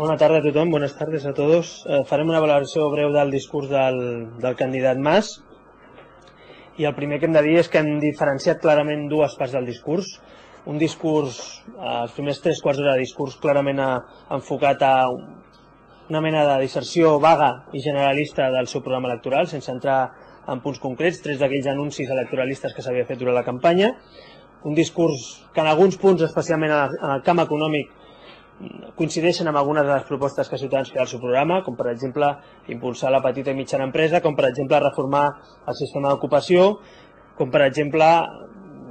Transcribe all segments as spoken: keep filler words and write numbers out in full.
Bona tarda a tothom, buenas tardes a todos. Eh, farem una valoració breu del discurs del, del candidat Mas. I el primer que hem de dir és que hem diferenciat clarament dues parts del discurs. Un discurs, eh, els primers tres quarts d'hora de discurs clarament ha, enfocat a una mena de disserció vaga i generalista del seu programa electoral, sense entrar en punts concrets, tres d'aquells anuncis electoralistes que s'havia fet durant la campanya. Un discurs que en alguns punts, especialment en el camp econòmic, coincideixen amb algunes de les propostes que Ciutadans feia al seu programa, com per exemple impulsar la petita i mitjana empresa, com per exemple reformar el sistema d'ocupació, com per exemple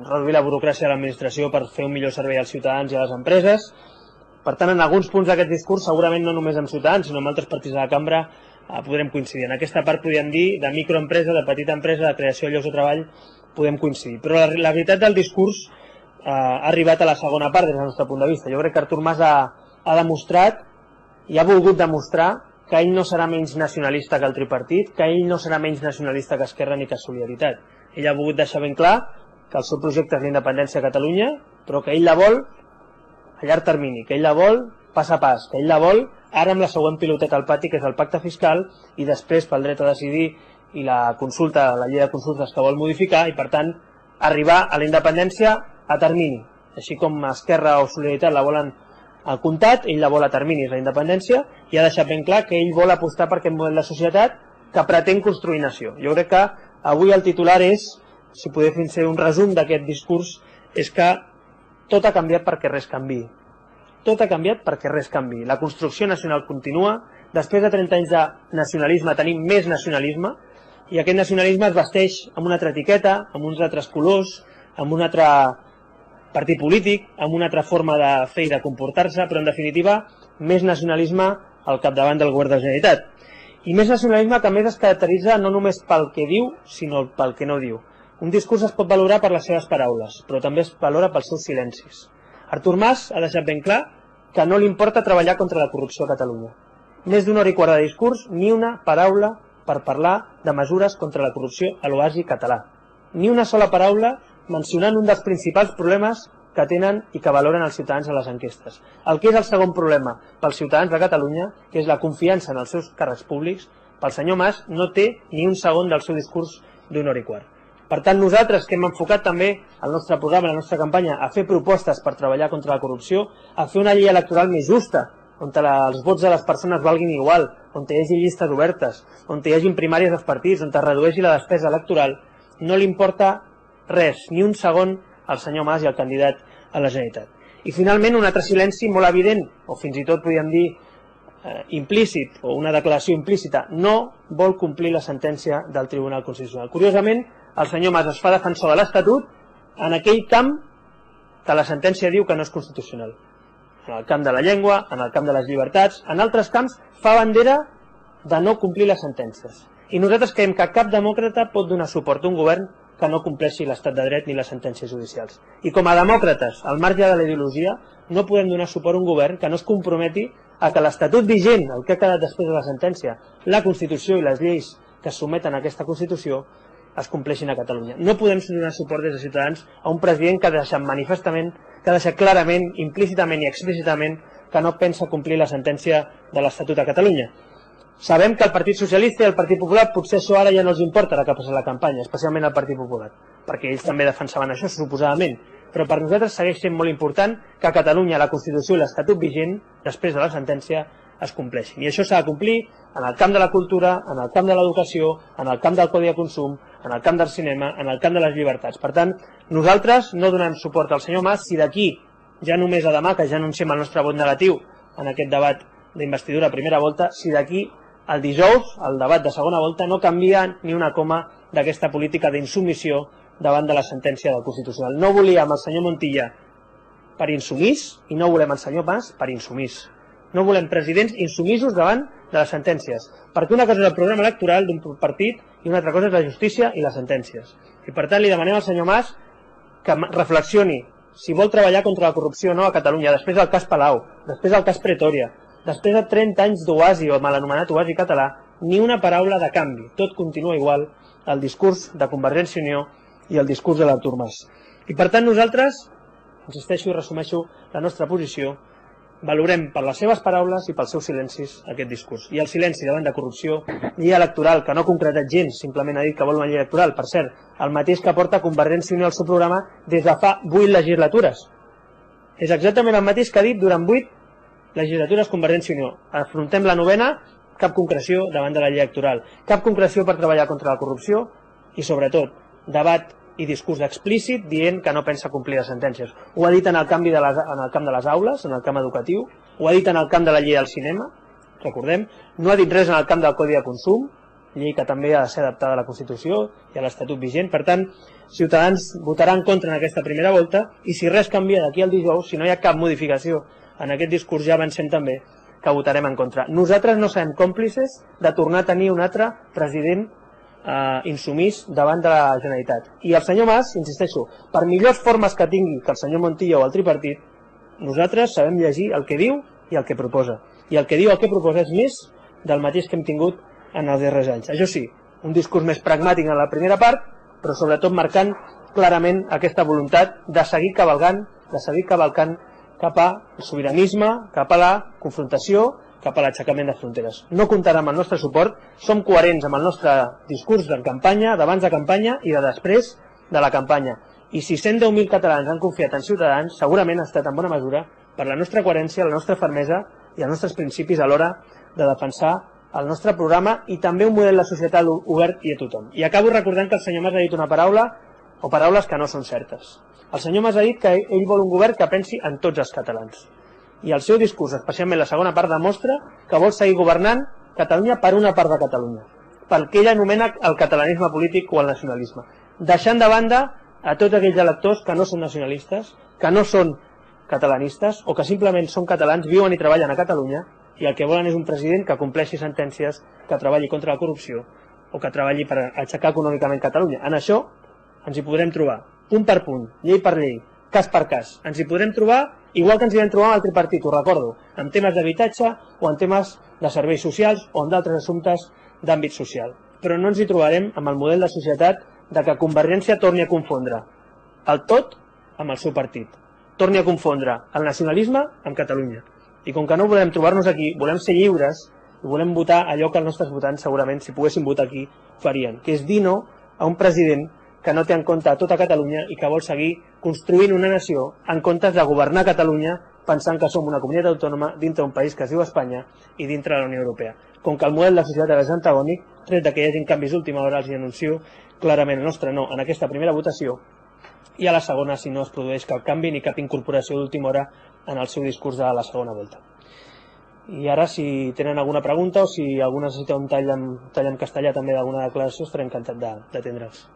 reduir la burocràcia de l'administració per fer un millor servei als ciutadans i a les empreses. Per tant, en alguns punts d'aquest discurs, segurament no només amb Ciutadans, sinó amb altres partits de la cambra, eh, podrem coincidir. En aquesta part podríem dir de microempresa, de petita empresa, de creació de llocs de treball, podem coincidir. Però la, la veritat del discurs eh, ha arribat a la segona part des del nostre punt de vista. Jo crec que Artur Mas ha, ha demostrat i ha volgut demostrar que ell no serà menys nacionalista que el tripartit, que ell no serà menys nacionalista que Esquerra ni que Solidaritat. Ell ha volgut deixar ben clar que el seu projecte és la independència a Catalunya, però que ell la vol a llarg termini, que ell la vol pas a pas, que ell la vol ara amb la següent piloteta al pati, que és el pacte fiscal, i després pel dret a decidir i la consulta, la llei de consultes que vol modificar, i per tant arribar a la independència a termini. Així com Esquerra o Solidaritat la volen al comptat, ell la vol a terminis, la independència, i ha deixat ben clar que ell vol apostar per aquest model de societat que pretén construir nació. Jo crec que avui el titular és, si podem fer un resum d'aquest discurs, és que tot ha canviat perquè res canviï. Tot ha canviat perquè res canviï. La construcció nacional continua, després de trenta anys de nacionalisme tenim més nacionalisme, i aquest nacionalisme es vesteix amb una altra etiqueta, amb uns altres colors, amb un altre partit polític, amb una altra forma de fer i de comportar-se, però en definitiva més nacionalisme al capdavant del govern de la Generalitat. I més nacionalisme que a més es caracteritza no només pel que diu, sinó pel que no diu. Un discurs es pot valorar per les seves paraules, però també es valora pels seus silencis. Artur Mas ha deixat ben clar que no li importa treballar contra la corrupció a Catalunya. Més d'una hora i quart de discurs, ni una paraula per parlar de mesures contra la corrupció a l'oasi català. Ni una sola paraula mencionant un dels principals problemes que tenen i que valoren els ciutadans a les enquestes. El que és el segon problema pels ciutadans de Catalunya, que és la confiança en els seus càrrecs públics, pel senyor Mas no té ni un segon del seu discurs d'una hora i quart. Per tant, nosaltres que hem enfocat també el nostre programa, la nostra campanya, a fer propostes per treballar contra la corrupció, a fer una llei electoral més justa, on els vots de les persones valguin igual, on hi hagi llistes obertes, on hi hagi primàries dels partits, on es redueixi la despesa electoral, no li importa res, ni un segon al senyor Mas i al candidat a la Generalitat. I finalment un altre silenci molt evident, o fins i tot podríem dir eh, implícit, o una declaració implícita, no vol complir la sentència del Tribunal Constitucional. Curiosament, el senyor Mas es fa defensor de l'Estatut en aquell camp que la sentència diu que no és constitucional. En el camp de la llengua, en el camp de les llibertats, en altres camps fa bandera de no complir les sentències. I nosaltres creiem que cap demòcrata pot donar suport a un govern que no compleixi l'estat de dret ni les sentències judicials. I com a demòcrates, al marge de la ideologia, no podem donar suport a un govern que no es comprometi a que l'Estatut vigent, el que ha quedat després de la sentència, la Constitució i les lleis que es someten a aquesta Constitució, es compleixin a Catalunya. No podem donar suport des de Ciutadans a un president que ha deixat manifestament, que ha deixat clarament, implícitament i explícitament que no pensa complir la sentència de l'Estatut a Catalunya. Sabem que el Partit Socialista i el Partit Popular potser això ara ja no els importa ara que ha passat la campanya, especialment el Partit Popular, perquè ells també defensaven això, suposadament. Però per nosaltres segueix sent molt important que a Catalunya la Constitució i l'Estatut vigent, després de la sentència, es compleixin. I això s'ha de complir en el camp de la cultura, en el camp de l'educació, en el camp del codi de consum, en el camp del cinema, en el camp de les llibertats. Per tant, nosaltres no donem suport al senyor Mas si d'aquí, ja només a demà, que ja anunciem el nostre vot negatiu en aquest debat d'investidura a primera volta, si d'aquí el dijous, el debat de segona volta, no canvia ni una coma d'aquesta política d'insubmissió davant de la sentència del Constitucional. No volíem el senyor Montilla per insumís i no volem el senyor Mas per insumís. No volem presidents insumisos davant de les sentències, perquè una cosa és el programa electoral d'un partit i una altra cosa és la justícia i les sentències. I per tant li demanem al senyor Mas que reflexioni si vol treballar contra la corrupció o no a Catalunya, després del cas Palau, després del cas Pretòria, després de trenta anys d'oasi o mal anomenat oasi català, ni una paraula de canvi. Tot continua igual, el discurs de Convergència i Unió i el discurs de l'Artur Mas. I per tant nosaltres, insisteixo i resumeixo la nostra posició, valorem per les seves paraules i pels seus silencis aquest discurs. I el silenci davant de corrupció, llei electoral, que no ha concretat gens, simplement ha dit que vol una llei electoral, per cert, el mateix que porta Convergència i Unió al seu programa des de fa vuit legislatures. És exactament el mateix que ha dit durant vuit legislatures Convergència i Unió. Afrontem la novena, cap concreció davant de la llei electoral, cap concreció per treballar contra la corrupció i, sobretot, debat i discurs explícit dient que no pensa complir les sentències. Ho ha dit en el, canvi de les, en el camp de les aules, en el camp educatiu, ho ha dit en el camp de la llei del cinema, recordem, no ha dit res en el camp del Codi de Consum, llei que també ha de ser adaptada a la Constitució i a l'Estatut vigent. Per tant, Ciutadans votarà en contra en aquesta primera volta i si res canvia d'aquí al dijous, si no hi ha cap modificació en aquest discurs, ja avancem també que votarem en contra. Nosaltres no serem còmplices de tornar a tenir un altre president Uh, insumís davant de la Generalitat. I el senyor Mas, insisteixo, per millors formes que tingui que el senyor Montilla o el tripartit, nosaltres sabem llegir el que diu i el que proposa. I el que diu, el que proposa és més del mateix que hem tingut en els darrers anys. Això sí, un discurs més pragmàtic en la primera part, però sobretot marcant clarament aquesta voluntat de seguir cavalgant, de seguir cavalcant cap al sobiranisme, cap a la confrontació, cap a l'aixecament de fronteres. No comptarà amb el nostre suport, som coherents amb el nostre discurs de campanya, d'abans de campanya i de després de la campanya. I si cent deu mil catalans han confiat en Ciutadans, segurament ha estat en bona mesura per la nostra coherència, la nostra fermesa i els nostres principis a l'hora de defensar el nostre programa i també un model de societat obert i a tothom. I acabo recordant que el senyor Mas ha dit una paraula o paraules que no són certes. El senyor Mas ha dit que ell vol un govern que pensi en tots els catalans. I el seu discurs, especialment la segona part, demostra que vol seguir governant Catalunya per una part de Catalunya, pel que ell anomena el catalanisme polític o el nacionalisme, deixant de banda a tots aquells electors que no són nacionalistes, que no són catalanistes o que simplement són catalans, viuen i treballen a Catalunya i el que volen és un president que compleixi sentències, que treballi contra la corrupció o que treballi per aixecar econòmicament Catalunya. En això ens hi podrem trobar, punt per punt, llei per llei, cas per cas. Ens hi podrem trobar igual que ens hi vam trobar amb el tripartit, ho recordo, en temes d'habitatge o en temes de serveis socials o en d'altres assumptes d'àmbit social. Però no ens hi trobarem amb el model de societat de que Convergència torni a confondre el tot amb el seu partit. Torni a confondre el nacionalisme amb Catalunya. I com que no volem trobar-nos aquí, volem ser lliures i volem votar allò que els nostres votants segurament, si poguessin votar aquí, farien, que és dir no a un president que no té en compte a tota Catalunya i que vol seguir construint una nació en comptes de governar Catalunya pensant que som una comunitat autònoma dintre d'un país que es diu Espanya i dintre de la Unió Europea. Com que el model de societat és antagònic, tret que hi hagi canvis d'última hora, els anuncio clarament el nostre no en aquesta primera votació i a la segona si no es produeix cap canvi ni cap incorporació d'última hora en el seu discurs de la segona volta. I ara, si tenen alguna pregunta o si algú necessita un tall en, tall en castellà també d'alguna declaració, estaré encantat d'atendre'ls.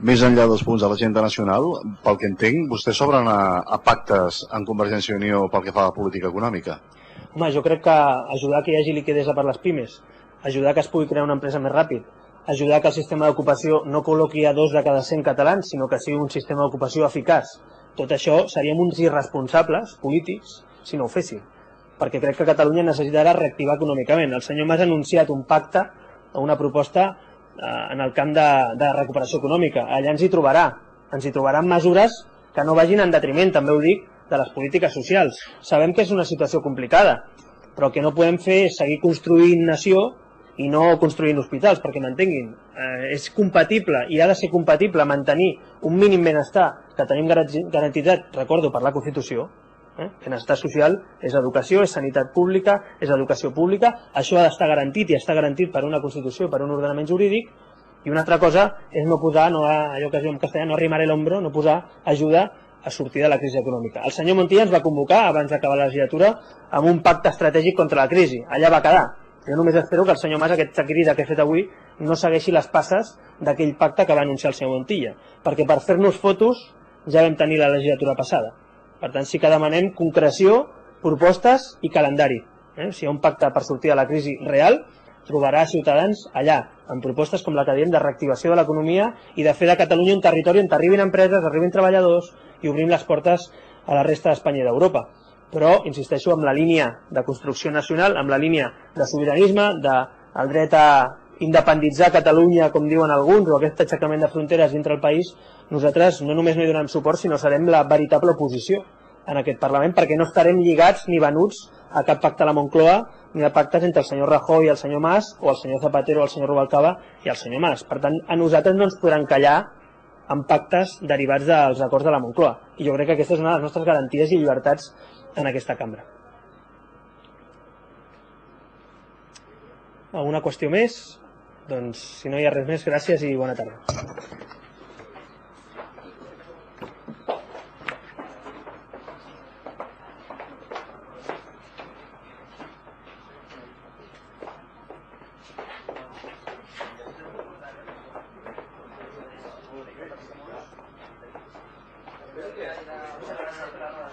Més enllà dels punts de l'agenda nacional, pel que entenc, vostès s'obren a, a pactes en Convergència i Unió pel que fa a la política econòmica? Home, jo crec que ajudar que hi hagi liquiditat per les pimes, ajudar que es pugui crear una empresa més ràpid, ajudar que el sistema d'ocupació no col·loqui a dos de cada cent catalans, sinó que sigui un sistema d'ocupació eficaç. Tot això seríem uns irresponsables polítics si no ho fessin, perquè crec que Catalunya necessitarà reactivar econòmicament. El senyor Mas ha anunciat un pacte o una proposta en el camp de, de recuperació econòmica. Allà ens hi trobarà. Ens hi trobaran mesures que no vagin en detriment, també ho dic, de les polítiques socials. Sabem que és una situació complicada, però el que no podem fer és seguir construint nació i no construint hospitals, perquè m'entenguin. Eh, és compatible i ha de ser compatible mantenir un mínim benestar que tenim garantitzat, recordo, per la Constitució. Eh? Benestar social és educació, és sanitat pública, és educació pública, això ha d'estar garantit i està garantit per una Constitució, per un ordenament jurídic, i una altra cosa és no posar, no, allò que es diu en castellà, no arrimar l'ombro, no posar ajuda a sortir de la crisi econòmica. El senyor Montilla ens va convocar abans d'acabar la legislatura amb un pacte estratègic contra la crisi, allà va quedar. Jo només espero que el senyor Mas, aquesta crida que he fet avui, no segueixi les passes d'aquell pacte que va anunciar el senyor Montilla, perquè per fer-nos fotos ja vam tenir la legislatura passada. Per tant, sí que demanem concreció, propostes i calendari. Eh? Si hi ha un pacte per sortir de la crisi real, trobarà ciutadans allà, amb propostes com la que diem de reactivació de l'economia i de fer de Catalunya un territori on arribin empreses, arribin treballadors i obrim les portes a la resta d'Espanya i d'Europa. Però, insisteixo, amb la línia de construcció nacional, amb la línia de sobiranisme, del dret a independitzar Catalunya, com diuen alguns, o aquest aixecament de fronteres dintre el país, nosaltres no només no hi donem suport, sinó serem la veritable oposició en aquest Parlament, perquè no estarem lligats ni venuts a cap pacte a la Moncloa, ni a pactes entre el senyor Rajoy i el senyor Mas, o el senyor Zapatero, el senyor Rubalcaba i el senyor Mas. Per tant, a nosaltres no ens podran callar en pactes derivats dels acords de la Moncloa. I jo crec que aquesta és una de les nostres garanties i llibertats en aquesta cambra. Alguna qüestió més? Doncs, si no hi ha res més, gràcies i bona tarda. Gracias.